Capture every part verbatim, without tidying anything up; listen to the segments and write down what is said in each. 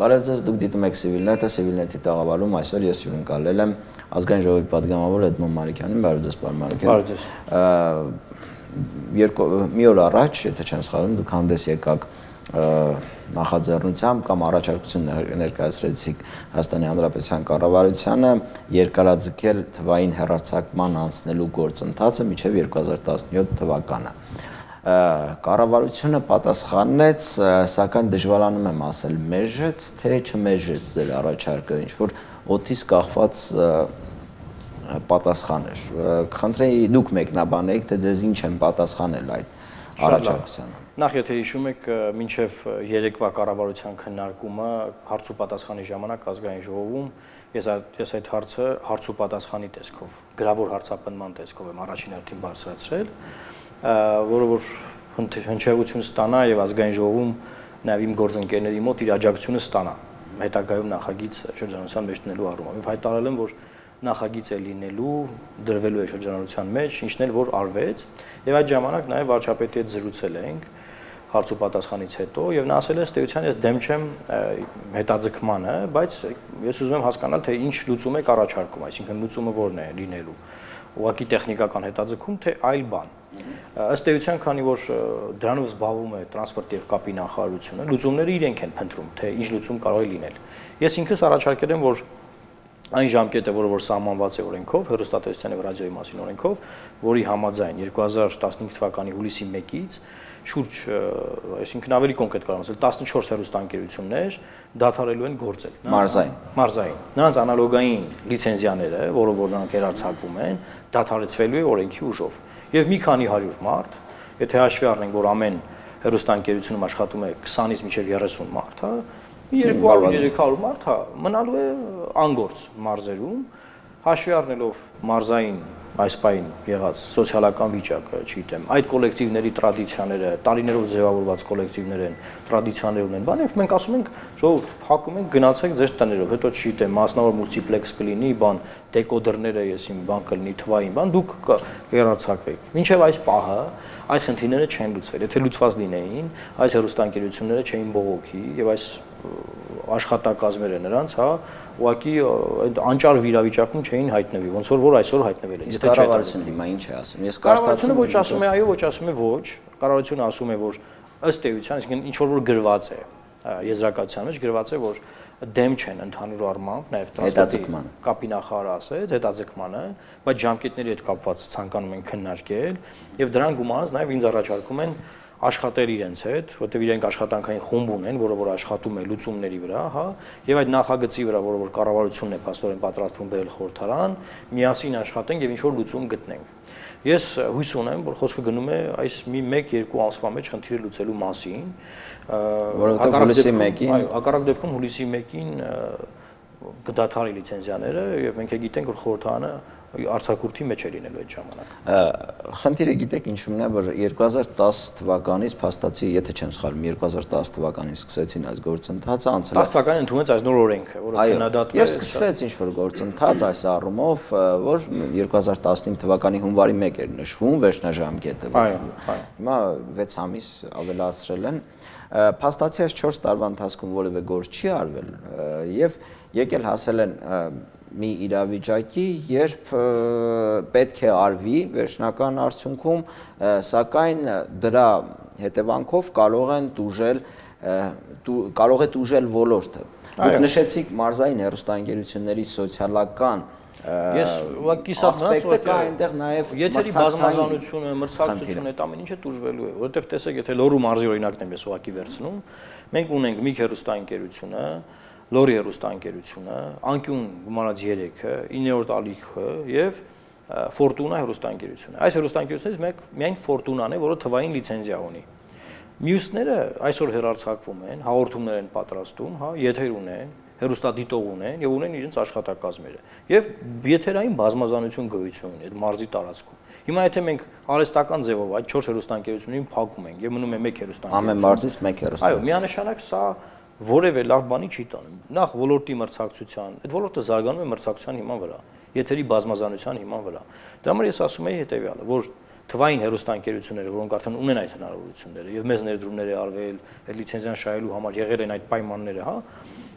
Բարև ձեզ, դուք դիտում եք Civilnet-ը, Civilnet-ի տաղավարում այսօր ես հյուրընկալել եմ ազգային ժողովի պատգամավոր Էդմոն Մարուկյանին, բարև ձեզ, պարոն Մարուկյան։ Բարև ձեզ։ Մի օր առաջ, եթե չեմ սխալվում, դուք հանդես եկաք նախաձեռնությամբ կամ առաջարկություն ներկայացրեցիք Հայաստանի Հանրապետության կառավարությանը երկարաձգել թվային հեռարձակման անցնելու գործընթացը մինչև երկու հազար տասնյոթ թվականը։ Կառավարությունը պատասխանեց, սակայն դժվարանում եմ ասել, մերժեց, թե չմերժեց ձեր առաջարկը, ինչ որ օդից կախված պատասխան էր։ Խնդրեի դուք մեկնաբանեք, թե ձեզ ինչ են պատասխանել այդ առաջարկությանը։ Նախ եթե հիշում եք, մինչև երեկվա կառավարության քննարկումը հարց ու պատասխանի ժամանակ ազգային ժողովում ես ես այդ հարցը հարց ու պատասխանի տեսքով, գրավոր հարցապնդման տեսքով եմ առաջին հերթին բարձրացրել, որը որ հնչեղություն ստանա եւ ազգային ժողովում նաեւ իմ գործընկերների մոտ իր աջակցությունը ստանա հետագայում նախագիծ շրջանառության մեջ դնելու առումով։ Եվ հայտարարել եմ, որ նախագիծ է լինելու, դրվելու է շրջանառության մեջ, ինչն էլ որ արվեց, եւ այդ ժամանակ նաեւ վարչապետի հետ զրուցել ենք հարց ու պատասխանից հետո եւ նա ասել է ըստեյության ես դեմ չեմ հետաձգմանը, բայց ես ուզում եմ հասկանալ թե ինչ լուծում եք առաջարկում, այսինքն լուծումը որն է լինելու, ուղղակի տեխնիկական հետաձգում թե այլ բան։ Ըստ էության, քանի որ դրանով զբաղվում է տրանսպորտ եւ կապի նախարարությունը, լուծումները իրենք են փնտրում, թե ինչ լուծում կարող է լինել։ Ես ինքս առաջարկել եմ, որ այն ժամկետը, որը որ սահմանված է օրենքով, հեռուստատեսության եւ ռադիոյի մասին օրենքով, որի համաձայն երկու հազար տասնհինգ թվականի հուլիսի մեկից շուրջ, այսինքն ավելի կոնկրետ կարող եմ ասել, տասնչորս հեռուստաընկերություններ դադարելու են գործել։ Մարզային։ Մարզային։ Նրանց անալոգային լիցենզիաները, որով որ նրանք հեռարձակվում են, դադարեցվելու է օրենքի ուժով։ Եվ մի քանի հարյուր մարդ, եթե հաշվի առնենք, որ ամեն հեռուստաընկերությունում աշխատում է քսանից մինչև երեսուն մարդ, հա, երկու հարյուր երեք հարյուր մարդ, հա, մնալու է անգործ մարզերում, հաշվի առնելով մարզային այս պայն եղած սոցիալական վիճակը, չգիտեմ, այդ կոլեկտիվների տրադիցիաները, տարիներով ձևավորված կոլեկտիվներ են, տրադիցիաներ ունեն, բան, եւ մենք ասում ենք, ժողովուրդ, փակում ենք, գնացեք ձեր տներով, հետո չգիտեմ, մասնավոր մուլտիպլեքս կլինի, բան, դեկոդերները, եսիմ բան կլինի, թվային, բան, դուք կհեռարձակվեք։ Մինչև այս պահը այդ խնդիրները չեն լուծվել։ Եթե լուծված լինեին, այս հեռուստաընկերությունները չէին բողոքի եւ այս աշխատակազմերը նրանց, հա, ուղղակի այդ անճար վիրավիճակում չէին հայտնվի, ոնց որ որ այսօր հայտնվել են։ Իսկ կառավարությունը հիմա ինչ է ասում։ Ես կառավարությունը ոչ ասում է այո, ոչ ասում է ոչ։ Կառավարությունը ասում է, որ ըստ էության, այսինքն ինչ որ որ գրված է եզրակացության մեջ գրված է, որ դեմ չեն ընդհանուր առմամբ, նաև հետաձգմանը կապի նախարարը ասեց, հետաձգմանը, բայց ժամկետների հետ կապված ցանկանում են քննարկել եւ դրան գումարած նաև ինձ առաջարկում են աշխատել իրենց հետ, որտեղ իրենք աշխատանքային խումբ ունեն, որը որ աշխատում է լուծումների վրա, հա, եւ այդ նախագծի վրա, որը որ կառավարությունն է փաստորեն պատրաստվում բերել խորհրդարան, միասին աշխատենք եւ ինչ որ լուծում գտնենք։ Ես հույս ունեմ, որ խոսքը գնում է այս մի մեկ-երկու ամսվա մեջ խնդիրը լուծելու մասին, որովհետեւ հուլիսի մեկին, այո, հակառակ դեպքում հուլիսի մեկին կդադարի լիցենզիաները եւ մենք գիտենք, որ խորհրդարանը արձակուրդի մեջ է լինելու այդ ժամանակ։ Խնդիրը գիտեք ինչու՞մն է, որ երկու հազար տաս թվականից փաստացի, եթե չեմ սխալվում, երկու հազար տաս թվականին սկսեցին այս գործընթացը, անցել է տաս թվականին ընդունվեց այս նոր օրենքը, որը քննադատվել է։ Եւ սկսվեց ինչ-որ գործընթաց այս առումով, որ երկու հազար տասնհինգ թվականի հունվարի մեկը էր նշվում վերջնաժամկետը։ Հիմա վեց ամիս ավելացրել են։ Փաստացի այս չորս տարվա ընթացքում որևէ գործ չի արվել եւ եկել հասել են մի իրավիճակի, երբ պետք է արվի վերջնական արդյունքում, սակայն դրա հետևանքով կարող են տուժել, կարող է տուժել ոլորտը։ Դուք նշեցիք մարզային հեռուստաընկերությունների սոցիալական Ես ուղղակի ասպեկտը կա այնտեղ նաև եթերի բազմազանությունը, մրցակցությունը, այդ ամեն ինչը տուժվելու է, որովհետև տեսեք, եթե Լոռու մարզի օրինակն եմ ես ուղղակի վերցնում, մենք ունենք մի հեռուստաընկերությունը, Լոռի հեռուստաընկերությունը, Անկյուն գումարած երեքը, իններորդ ալիքը եւ Ֆորտունա հեռուստաընկերությունը։ Այս հեռուստաընկերություններից միայն Ֆորտունան է, որը թվային լիցենզիա ունի։ Մյուսները այսօր հեռարձակվում են, հաղորդումներ են պատրաստում, հա, եթեր ունեն, հեռուստադիտող ունեն եւ ունեն իրենց աշխատակազմերը։ Եվ եթերային բազմազանություն գոյություն ունի այդ մարզի տարածքում։ Հիմա եթե մենք արհեստական ձևով այդ չորս հեռուստաընկերություններին փակում ենք եւ մնում է մեկ հեռուստաընկերություն, ամեն մարզից մեկ հեռուստա։ Այո, միանշանակ սա որևէ լավ բանի չի տանում։ Նախ ոլորտի մրցակցության, այդ ոլորտը զարգանում է մրցակցության հիման վրա, եթերի բազմազանության հիման վրա։ Դրա համար ես ասում եի հետեւյալը, որ թվային հեռուստաընկերությունները, որոնք արդեն ունեն այդ հնարավորությունները եւ մեծ ներդրումներ է արվել, այդ լիցենզիան շահելու համար եղել են այդ պայմանները, հա,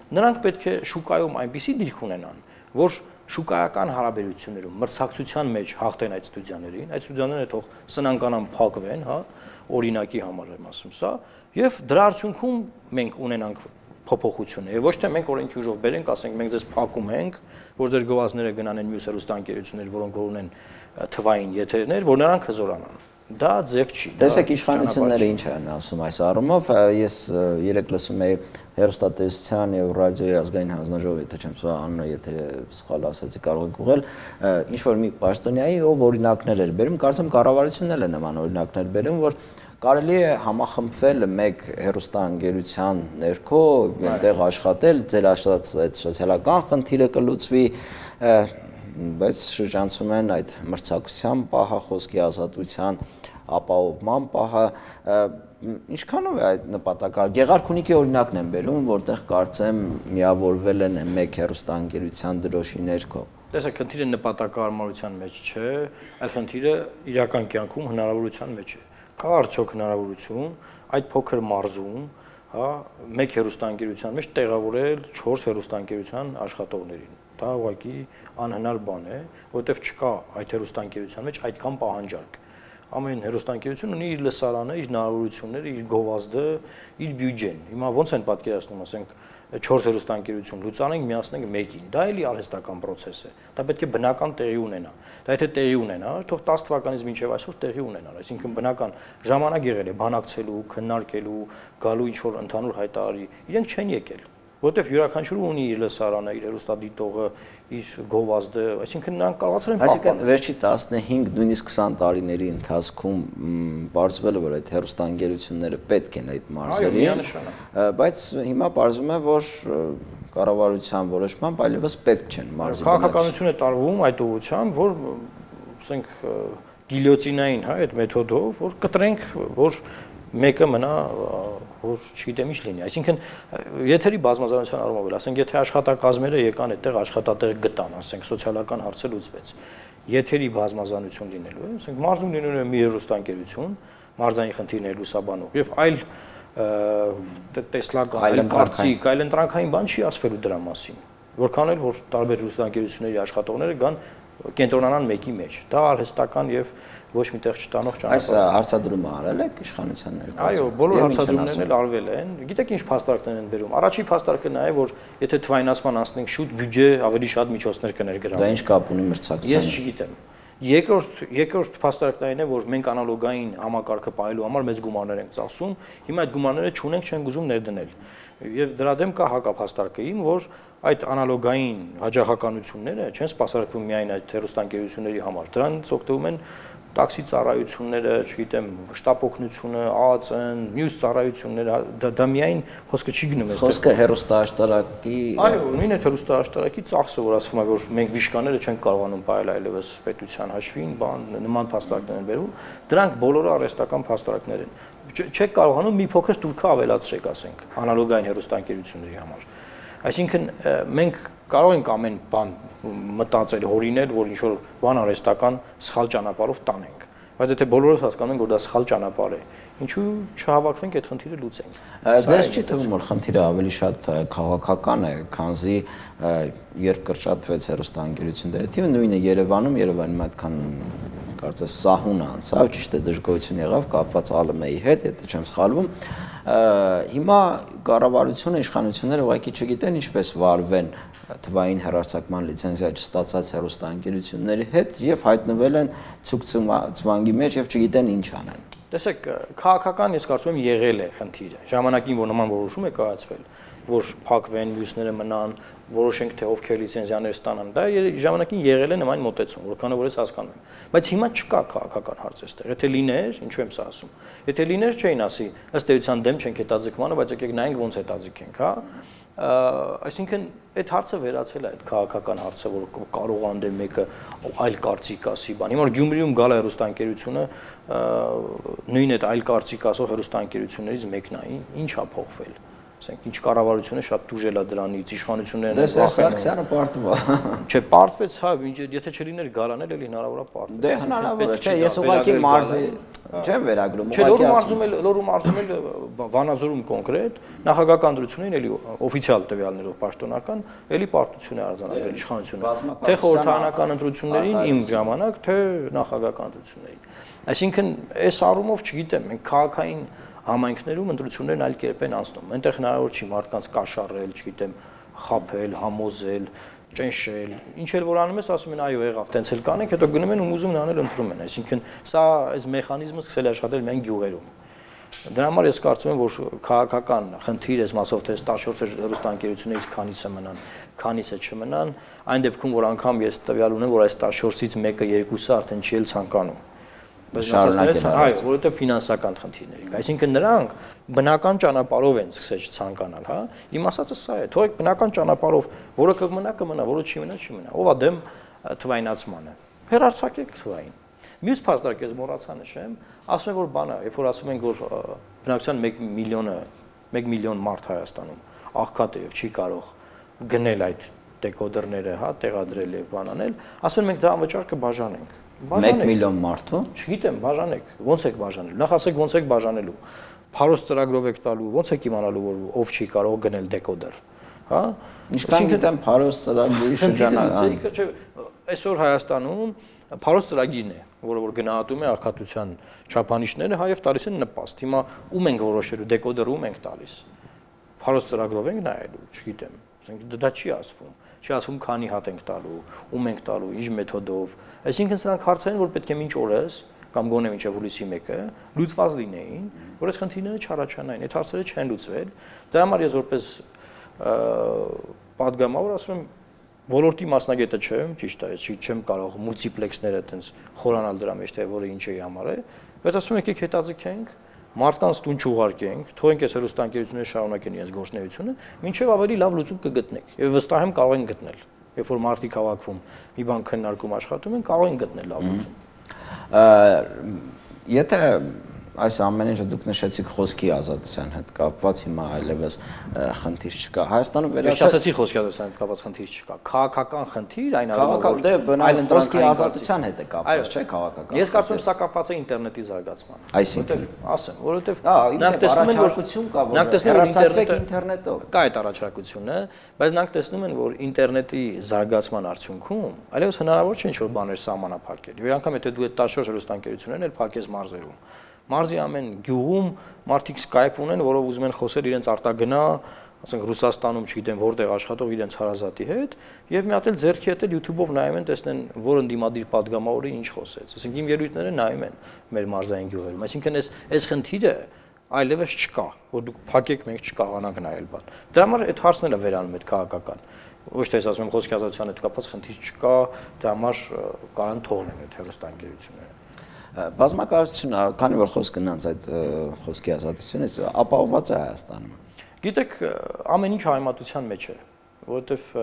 նրանք պետք է շուկայում այնպիսի դիրք ունենան, որ շուկայական հարաբերություններում մրցակցության մեջ հաղթեն այդ ստուդիաներին, այդ ստուդիաները թող սնանկանան փակվեն, հա, օրինակի համար եմ ասում սա, եւ դրա արդյունքում մենք ունենանք փոփոխություն է, ոչ թե մենք օրենքի ուժով բերենք, ասենք մենք ձեզ փակում ենք, որ ձեր գովազդները գնան մյուս հեռուստաընկերություններ, որոնք որ ունեն թվային եթերներ, որ նրանք հզորանան։ Դա ձև չի։ Տեսեք իշխանությունները ինչ են ասում այս առումով, ես երեք լսում էի հեռուստատեսության եւ ռադիոյի ազգային հանձնաժողովի, եթե չեմ սա անունը, եթե սխալ ասացի, կարող եք ուղղել, ինչ որ մի պաշտոնյայի ով օրինակներ էր բերում, կարծեմ կառավարությունն էլ է նման օրինակներ բերում, որ կարելի է համախմբվել մեկ հեռուստաընկերության ներքո, այնտեղ աշխատել, ձեր աշխատած այդ սոցիալական խնդիրը կլուծվի, բայց շրջանցում են այդ մրցակցության պահը, խոսքի ազատության ապահովման պահը, ինչքանով է այդ նպատակը։ Գեղարքունիքի օրինակն են բերում, որտեղ կարծեմ միավորվել են մեկ հեռուստաընկերության դրոշի ներքո։ Տեսեք, խնդիրը նպատակարարության մեջ չէ, այլ խնդիրը իրական կյանքում հնարավորության մեջ է։ Կա արդյոք հնարավորություն այդ փոքր մարզում, հա, մեկ հեռուստաընկերության մեջ տեղավորել չորս հեռուստաընկերության աշխատողներին։ Դա ուղղակի անհնար բան է, որովհետև չկա այդ հեռուստաընկերության մեջ այդքան պահանջարկ։ Ամեն հեռուստաընկերություն ունի իր լսարանը, իր հնարավորությունները, իր գովազդը, իր բյուջեն։ Հիմա ոնց են պատկերացնում, ասենք չորս հեռուստաընկերություն լուծանենք, միացնենք մեկին։ Դա էլի արհեստական process է։ Դա պետք է բնական տեղի ունենա։ Դա եթե տեղի ունենա, թող տասը թվականից մինչև այսօր տեղի ունենա, այսինքն բնական ժամանակ եղել է բանակցելու, քննարկելու, գալու ինչ որ ընդհանուր հայտարարի։ Իրենք չեն եկել, որովհետև յուրաքանչյուրը ունի իր լսարանը, իր հեռուստադիտողը, իր գովազդը, այսինքն նրանք կարողացել են պահպանել։ Այսինքն վերջի տասնհինգ, նույնիսկ քսան տարիների ընթացքում բարձվել է, որ այդ հեռուստաընկերությունները պետք են այդ մարզերին, բայց հիմա պարզվում է, որ կառավարության որոշմամբ այլևս պետք չեն մարզի։ Քաղաքականություն է տարվում այդ ուղղությամբ, որ ասենք գիլյոտինային, հա, այդ մեթոդով, որ կտրենք, որ մեկը մնա, որ չգիտեմ ինչ լինի, այսինքն եթերի բազմազանության առումով, ասենք եթե աշխատակազմերը եկան այդտեղ աշխատատեղ գտան, ասենք սոցիալական հարցը լուծվեց, եթերի բազմազանություն լինելու է, ասենք մարզում լինելու է մի հեռուստաընկերություն, մարզային խնդիրներ լուսաբանող եւ այլ տեսլական, այլ կարծիք, այլ ընտրանքային բան չի ասվելու դրա մասին, որքան էլ որ տարբեր հեռուստաընկերությունների աշխատողները գան կենտրոնանան մեկի մեջ, դա արհեստական եւ ոչ միտեղ չտանող ճանապարհ։ Այս հարցադրումը արել եք իշխանության ներկայացում։ Այո, բոլոր հարցադրումներն էլ արվել են։ Գիտեք ինչ փաստարկներ են բերում։ Առաջի փաստարկը նա է, որ եթե թվայնացման անցնենք շուտ բյուջե ավելի շատ միջոցներ կներգրավվեն։ Դա ինչ կապ ունի մրցակցությանը։ Ես չգիտեմ։ Երկրորդ երկրորդ փաստարկն այն է, որ մենք անալոգային համակարգը պահելու համար մեծ գումարներ ենք ծախսում, հիմա այդ գումարները չունենք, չենք ուզում ներդնել։ Եվ դրա դեմ կա հակափաստարկը իմ, որ այդ անալոգային հաջողականությունները չեն սպասարկվում միայն այդ հեռուստաընկերությունների համար, դրանից օգտվում են տաքսի ծառայությունները, չգիտեմ, շտապ օգնությունը, ԱԱԾ-ն, մյուս ծառայությունները, դա միայն խոսքը չի գնում այստեղ։ Խոսքը հեռուստաաշտարակի։ Այո, նույն է հեռուստաաշտարակի ծախսը, որ ասվում է, որ մենք վիշկաները չենք կարողանում պահել այլևս պետության հաշվին, բան, նման փաստարկներ են բերում, դրանք բոլորը արհեստական փաստարկներ են։ Չեք կարողանում մի փոքր տուրքը ավելացրեք, ասենք, անալոգային հեռուստաընկերությունների համար։ Այսինքն մենք կարող ենք ամեն բան մտածել, հորինել, որ ինչ-որ բան արհեստական սխալ ճանապարհով տանենք, բայց եթե բոլորս հասկանում ենք, որ դա սխալ ճանապարհ է, ինչու չհավաքվենք այդ խնդիրը լուծենք։ Ձեզ չի թվում, որ խնդիրը ավելի շատ քաղաքական է, քանզի երբ կրճատվեց հեռուստաընկերությունների թիվը, նույնը Երևանում, Երևանում այդքան կարծես սահուն անցավ, ճիշտ է դժգոհություն եղավ կապված ԱԼՄ-ի հետ, եթե չեմ սխալվում։ Հիմա կառավարությունը, իշխանությունները ուղղակի չգիտեն ինչպես վարվեն թվային հեռարձակման լիցենզիա չստացած հեռուստաընկերությունների հետ եւ հայտնվել են ցուկ-ցվանգի մեջ եւ չգիտեն ինչ անեն։ Տեսեք, քաղաքական ես կարծում եմ եղել է խնդիրը։ Ժամանակին որ նման որոշում է կայացվել, որ փակվեն, մյուսները մնան, որոշենք թե ովքեր լիցենզիաներ ստանան, դա ժամանակին եղել է նման մոտեցում, որքանը որ ես հասկանում եմ։ Բայց հիմա չկա քաղաքական հարց այստեղ։ Եթե լիներ, ինչու եմ սա ասում։ Եթե լիներ, չէին ասի, ըստ էության դեմ չենք հետաձգմանը, բայց եկեք նայենք ոնց հետաձգենք, հա։ Այսինքն այդ հարցը վերացել է այդ քաղաքական հարցը, որ կարող անդե մեկը այլ կարծիք ասի, բան։ Հիմա Գյումրիում գալ է հեռուստաընկերությունը, նույն այդ այլ կարծիք ասող հեռուստաընկերություններից մեկն է, ինչ ա փոխվել։ ասենք ինչ կառավարությունը շատ դուժել է դրանից, իշխանություններն են վախենում։ Դե Սարգսյանը պարտվա։ Չէ, պարտվեց, հա, եթե չլիներ գարանել, էլի հնարավոր է պարտվել։ Դե հնարավոր է, չէ, ես ուղղակի մարզի չեմ վերագրում, ուղղակի ասում եմ։ Չէ, լորում մարզում էլ Վանաձորում կոնկրետ նախագահական դրությունին էլի օֆիցիալ տվյալներով պաշտոնական էլի պարտություն է արձանագրել իշխանությունը։ Թե խորհրդարանական ընտրություններին իմ ժամանակ, թե նախագահական ընտրություններին։ Այսինքն, այս առումով չգիտեմ, մենք քաղաքային համայնքներում ընտրություններն այլ կերպ են անցնում։ Այնտեղ հնարավոր չի մարդկանց կաշառել, չգիտեմ, խաբել, համոզել, ճնշել։ Ինչ էլ որ անում ես, ասում են այո, եղավ, տենց էլ կանենք, հետո գնում են ու ուզում են անել ընտրում են։ Այսինքն, սա այս մեխանիզմը սկսել է աշխատել միայն գյուղերում։ Դրա համար ես կարծում եմ, որ քաղաքական խնդիր էս մասով թե տաշորձեր հեռուստաընկերություններից քանիսը մնան, քանիսը չմնան, այն դեպքում, որ անգամ ես տվյալ ունեմ, որ այս տաշորձից մեկը, երկուսը արդեն չի էլ ցանկանում։ Շարունակել այո, որովհետև ֆինանսական խնդիրներ կա։ Այսինքն նրանք բնական ճանապարհով են սկսել չցանկանալ, հա։ Իմ ասածը սա է, թողեք բնական ճանապարհով, որը կմնա, կմնա, որը չի մնա, չի մնա։ Ով է դեմ թվայնացմանը։ Հեռարձակեք թվային։ Մյուս փաստարկ ես մոռացա նշեմ, ասում եմ որ բանը, երբ որ ասում ենք որ բնակչության մեկ միլիոնը, մեկ միլիոն մարդ Հայաստանում աղքատ է եւ չի կարող գնել այդ դեկոդերները, հա, տեղադրել եւ բանանել, ասում են մենք դա անվճար կբաժանենք։ մեկ միլիոն մարդու։ Չգիտեմ, բաժանեք, ոնց եք բաժանել։ Նախ ասեք ոնց եք բաժանելու։ Փարոս ծրագրով եք տալու, ոնց եք իմանալու որ ով չի կարող գնել դեկոդեր, հա։ Ինչքան գիտեմ փարոս ծրագրի շրջանակ։ Չէ, այսօր Հայաստանում փարոս ծրագիրն է, որը որ գնահատում է աղքատության չափանիշները, հայև տալիս են նպաստ։ Հիմա ում ենք որոշելու դեկոդերը ում ենք տալիս։ Փարոս ծրագրով ենք նայելու, չգիտեմ։ Ասենք դա չի ասվում։ Չի ասում քանի հատ ենք տալու, ում ենք տալու, ինչ մեթոդով։ Այսինքն սրանք հարցեր են, որ պետք է մինչ օրս կամ գոնե մինչև հուլիսի մեկը լուծված լինեին, որ այս խնդիրները չառաջանային, այդ հարցերը չեն լուծվել։ Դրա համար ես որպես պատգամավոր ասում եմ, ոլորտի մասնագետը չեմ, ճիշտ է, ես չեմ կարող մուլտիպլեքսները այտենց խորանալ դրա մեջ, թե որը ինչ է համար է, բայց ասում եմ եկեք հետաձգենք, մարդկանց տուն չուղարկենք, թողենք այս հեռուստաընկերությունները շարունակեն իրենց գործունեությունը, մինչև ավելի լավ լուծում կգտնենք։ Եվ վստահ եմ կարող են գտնել։ Երբ որ մարդիկ հավաքվում, մի բան քննարկում աշխատում են, կարող են գտնել լավ լուծում։ Եթե այս ամեն ինչը դուք նշեցիք խոսքի ազատության հետ կապված, հիմա այլևս խնդիր չկա։ Հայաստանում վերացած ասացի խոսքի ազատության հետ կապված խնդիր չկա։ Քաղաքական խնդիր, այն առումով դե բնավ խոսքի ազատության հետ է կապված, չէ՞ քաղաքական։ Ես կարծում եմ սա կապված է ինտերնետի զարգացման։ Այսինքն, ասեմ, որովհետև նրանք տեսնում են, որ կա, որ հեռարձակվեք ինտերնետով։ Կա այդ առաջարկությունը, բայց նրանք տեսնում են, որ ինտերնետի զարգացման արդյունքում այլևս հնարավոր չէ ինչ-որ բաներ սահմանափակել։ Եվ անգամ եթե դու այդ տաշոր հեռուստաընկերություններն էլ փակես մարզերում։ Մարզի ամեն գյուղում մարդիկ Skype ունեն, որով ուզում են խոսել իրենց արտագնա, ասենք Ռուսաստանում, չգիտեմ, որտեղ աշխատող իրենց հարազատի հետ, եւ մի հատ էլ ձեռքի հետ էլ YouTube-ով նայում են, տեսնեն, որ ընդդիմադիր падգամավորը ինչ խոսեց։ Ասենք իմ ելույթները նայում են մեր մարզային գյուղերում։ Այսինքն այս այս խնդիրը այլևս չկա, որ դուք փակեք, մենք չկարողանանք նայել բան։ Դրա համար այդ հարցն էլ է վերանում այդ քաղաքական։ Ոչ թե ասում եմ խոսքի ազատության հետ կապված խնդիր չկա, դրա համար կարան թողնեն այդ հեռուստաընկերությունները։ Բազմակարծությունը, քանի որ խոսք գնաց այդ խոսքի ազատությունից, ապահովված է Հայաստանում։ Գիտեք, ամեն ինչ համեմատության մեջ է, որովհետև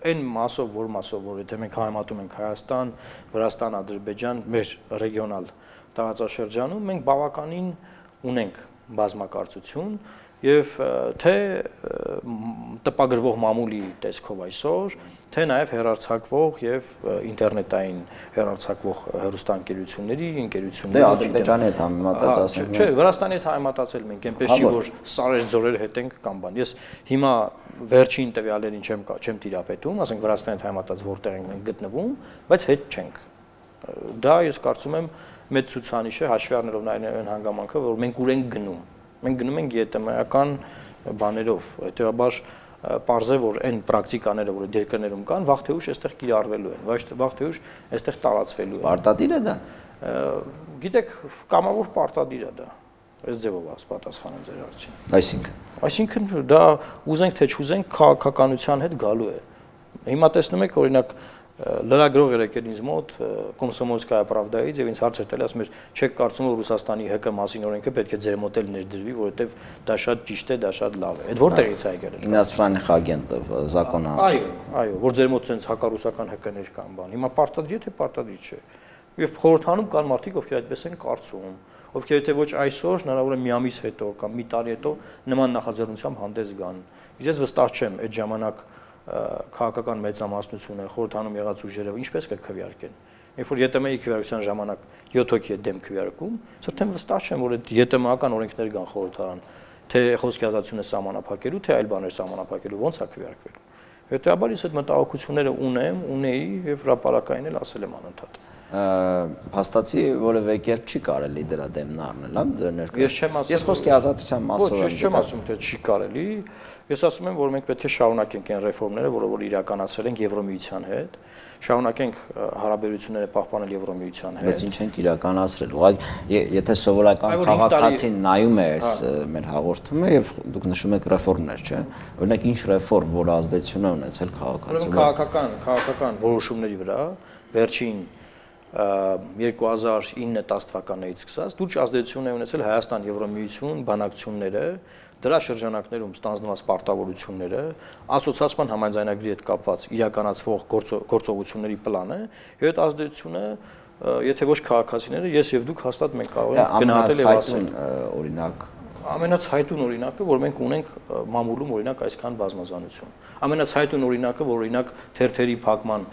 այն մասով, որ մասով, որ եթե մենք համեմատում ենք Հայաստան, Վրաստան, Ադրբեջան, մեր ռեգիոնալ տարածաշրջանում, մենք բավականին ունենք բազմակարծություն եւ թե տպագրվող մամուլի տեսքով այսօր, թե նաեւ հեռարձակվող եւ ինտերնետային հեռարձակվող հեռուստաընկերությունների, ընկերությունների։ Դե Ադրբեջանի հետ համեմատած ասեմ։ Չէ, Վրաստանի հետ համեմատացել մենք այնպես չի, որ սարեր ձորեր հետ ենք կամ բան։ Ես հիմա վերջին տվյալներին չեմ չեմ տիրապետում, ասենք Վրաստանի հետ համեմատած որտեղ ենք մենք գտնվում, բայց հետ չենք։ Դա ես կարծում եմ մեծ ցուցանիշ է, հաշվի առնելով այն հանգամանքը, որ մենք ուր ենք գնում։ Մենք գնում ենք ԵՏՄ-ական բաներով, հետեւաբար պարզ է, որ այն պրակտիկաները, որ երկրներում կան, վաղ թե ուշ այստեղ կիրառվելու են, ոչ թե վաղ թե ուշ այստեղ տարածվելու են։ Պարտադիր է դա։ Գիտեք, կամավոր պարտադիր է դա։ Այս ձևով պատասխանեմ ձեր հարցին։ Այսինքն։ Այսինքն դա ուզենք թե չուզենք քաղաքականության հետ գալու է։ Հիմա տեսնում եք, օրինակ լրագրող էր եկել ինձ մոտ Կոմսոմոլսկայա Պրավդայից եւ ինձ հարց էր տալի, ասում էր, չեք կարծում որ Ռուսաստանի ՀԿ մասին օրենքը պետք է ձեր մոտ էլ ներդրվի, որովհետեւ դա շատ ճիշտ է, դա շատ լավ է։ Այդ որտեղից է եկել։ Իностранных агентов законно։ Այո, այո, որ ձեր մոտ sense հակառուսական ՀԿ-ներ կան բան։ Հիմա պարտադիր է թե պարտադիր չէ։ Եվ խորհրդանում կան մարդիկ, ովքեր այդպես են կարծում։ ովքեր եթե ոչ այսօր, հնարավոր է մի ամիս հետո կամ մի տարի հետո նման նախաձեռնությամբ հանդես գան։ Իսկ ես վստահ չեմ այդ ժամանակ քաղաքական մեծամասնությունը, խորհրդանում եղած ուժերը ինչպես կքվեարկեն։ Երբ որ ԵՏՄ-ի քվեարկության ժամանակ յոթ հոգի է դեմ քվեարկում, սրտեմ վստահ չեմ, որ այդ ԵՏՄ-ական օրենքներ կան խորհրդարան, թե խոսքի ազատությունը սահմանափակելու, թե այլ բաներ սահմանափակելու, ո՞նց է քվեարկվելու։ Հետեւաբար ես այդ մտահոգությունները ունեմ, ունեի եւ հրապարակային էլ ասել եմ անընդհատ։ Փաստացի որևէ կերպ չի կարելի դրա դեմն առնել, հա, դեռ ներկայ։ Ես չեմ ասում։ Ես խոսքի ազատության մասով եմ։ Ոչ, ես չեմ ասում, թե չի կարելի։ Ես ասում եմ, որ մենք պետք է շարունակենք այն ռեֆորմները, որը որ իրականացրել ենք Եվրոմիության հետ, շարունակենք հարաբերությունները պահպանել Եվրոմիության հետ։ Բայց ինչ ենք իրականացրել։ Ուղղակի եթե սովորական քաղաքացին նայում է այս մեր հաղորդումը եւ դուք նշում եք ռեֆորմներ, չէ՞։ Օրինակ ինչ ռեֆորմ, որ ազդեցություն է ունեցել քաղաքացու վրա։ Քաղաքական, քաղաքական որոշումների վրա վերջին երկու հազար ինը դես թվականներից սկսած լուրջ ազդեցություն է ունեցել Հայաստան Եվրոմիություն բանակցությունները, դրա շրջանակներում ստանձնված պարտավորությունները, ասոցիացիան համաձայնագրի հետ կապված իրականացվող գործողությունների պլանը, եւ այդ ազդեցությունը, եթե ոչ քաղաքացիները, ես եւ դուք հաստատ մենք կարող ենք գնահատել եւ ասել։ Օրինակ Ամենացայտուն օրինակը, որ մենք ունենք մամուլում օրինակ այսքան բազմազանություն։ Ամենացայտուն օրինակը, որ օրինակ թերթերի փակման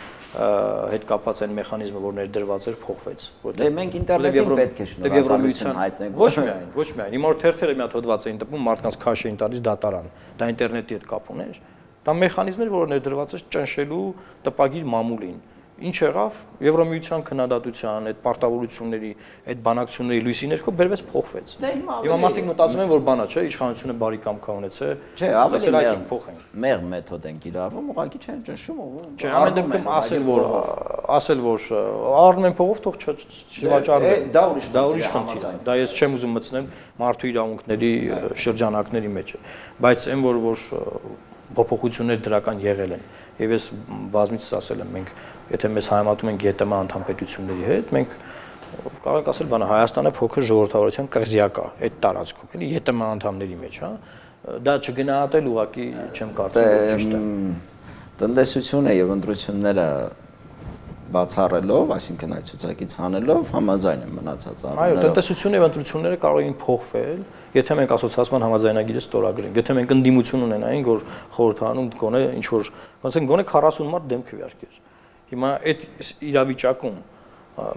հետ կապված այն մեխանիզմը, որ ներդրված էր, փոխվեց, որտեղ դե մենք ինտերնետին պետք է շնորհակալություն հայտնենք։ Ոչ միայն, ոչ միայն։ Հիմա որ թերթերը մի հատ հոդված էին տպում, մարդկանց քաշ էին տալիս դատարան, դա ինտերնետի հետ կապ ուներ։ Դա մեխանիզմ էր, որը ներդրված էր ճնշելու տպագիր մամուլին։ Ինչ եղավ Եվրոմիության քննադատության, այդ պարտավորությունների, այդ բանակցությունների լույսի ներքո բերվեց փոխվեց։ Հիմա մարդիկ մտածում են, որ բանա չէ, իշխանությունը բարի կամքա ունեցե։ Չէ, ավելի լավ փոխենք։ Մեղ մեթոդ են կիրառվում, ուղղակի չեն ճնշում։ Չէ, ամեն դեպքում ասել որ ասել որ առնում են փողով, թող չվաճառվեն։ Դա ուրիշ դա ուրիշ խնդիր է։ Դա ես չեմ ուզում մտցնել մարդու իրավունքների շրջանակների մեջ, բայց այն որ որ փոփոխություններ դրական եղել են եւ ես բազմիցս ասել եմ մենք եթե մեզ համատում ենք ԵՏՄ անդամ պետությունների հետ մենք կարող ենք ասել բանը Հայաստանը փոքր ժողովրդավարության կղզյակա այդ տարածքում էլի ԵՏՄ անդամների մեջ հա դա չգնահատել ուղղակի չեմ կարծում որ ճիշտ է տնտեսությունը եւ ընտրությունները բացառելով, այսինքն այդ ցուցակից հանելով համաձայն եմ մնացած առումներով։ Այո, տնտեսությունը եւ ընտրությունները կարող են փոխվել, եթե մենք ասոցիացիան համաձայնագիրը ստորագրենք, եթե մենք ընդդիմություն ունենայինք, որ խորհրդանում գոնե ինչ որ, ոնց են գոնե քառասուն մարդ դեմ քվեարկեր։ Հիմա այդ իրավիճակում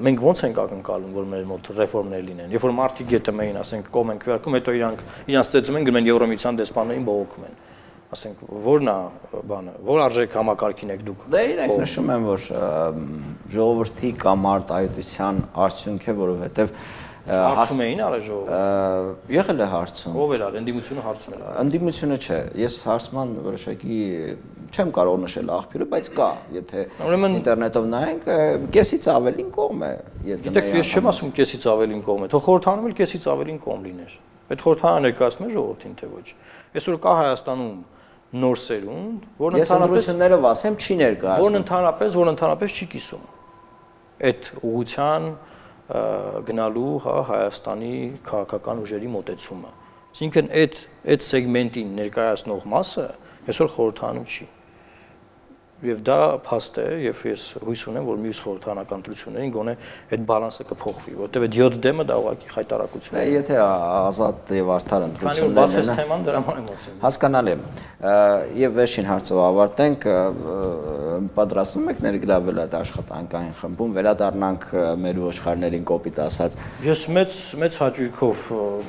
մենք ոնց ենք ակնկալում, որ մեր մոտ ռեֆորմներ լինեն։ Երբ որ մարդիկ ԵՏՄ-ին, ասենք, կողմ են քվեարկում, հետո իրանք իրանք ծեծում են, գնում են Եվրոմիության դեսպաններին բողոքում են։ Ասենք ո՞րն է բանը, ո՞ր արժեք համակարգին եք դուք։ Դե իրենք նշում են, որ ժողովրդի կամ արտահայտության արդյունք է, որովհետև հարցում էին արել ժողովուրդը։ Եղել է հարցում։ Ով էր արել, ընդդիմությունը հարցում էր։ Ընդդիմությունը չէ, ես հարցման որոշակի չեմ կարող նշել աղբյուրը, բայց կա, եթե ինտերնետով նայենք, կեսից ավելին կողմ է։ Գիտեք, ես չեմ ասում կեսից ավելին կողմ է, թող խորհրդանում էլ կեսից ավելին կողմ լիներ։ Այդ խորհրդանը ներկայացնում է ժողովրդին, թե ոչ։ Այսօր կա Հայաստանում նոր սերունդ, որն ընդհանրապես ներով ասեմ չի ներկայացնում։ Որն ընդհանրապես, որն ընդհանրապես չի կիսում այդ ուղղության գնալու, հա, Հայաստանի քաղաքական ուժերի մոտեցումը։ Այսինքն այդ այդ սեգմենտին ներկայացնող մասը այսօր խորհրդանում չի։ Եվ դա փաստ է, եւ ես հույս ունեմ, որ մյուս խորհրդանական ընտրություններին գոնե այդ բալանսը կփոխվի, որտեղ այդ յոթ դեմը դա ուղղակի խայտարակություն է։ Եթե ազատ եւ արդար ընտրություններ են, բացես թեման դրա մասին ասեմ։ Հասկանալի է։ Եվ վերջին հարցով ավարտենք, պատրաստվում եք ներգրավել այդ աշխատանքային խմբում, վերադառնանք մեր ոչխարներին կոպիտ ասած։ Ես մեծ մեծ հաճույքով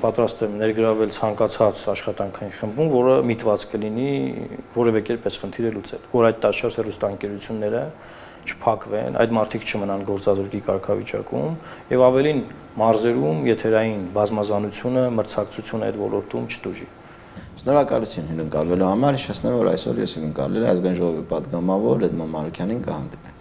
պատրաստ եմ ներգրավել ցանկացած աշխատանքային խմբում, որը միտված կլինի որևէ կերպ այս խնդիրը լուծել, որ այդ տաշած հեռուստաընկերությունները չփակվեն, այդ մարդիկ չմնան գործազրկի կարգավիճակում եւ ավելին մարզերում եթերային բազմազանությունը, մրցակցությունը այդ ոլորտում չտուժի։ Շնորհակալություն հյուրընկալվելու համար, հիշեցնեմ, որ այսօր ես հյուրընկալել եմ ազգային ժողովի պատգամավոր Էդմոն Մանուկյանին, կհանդիպենք։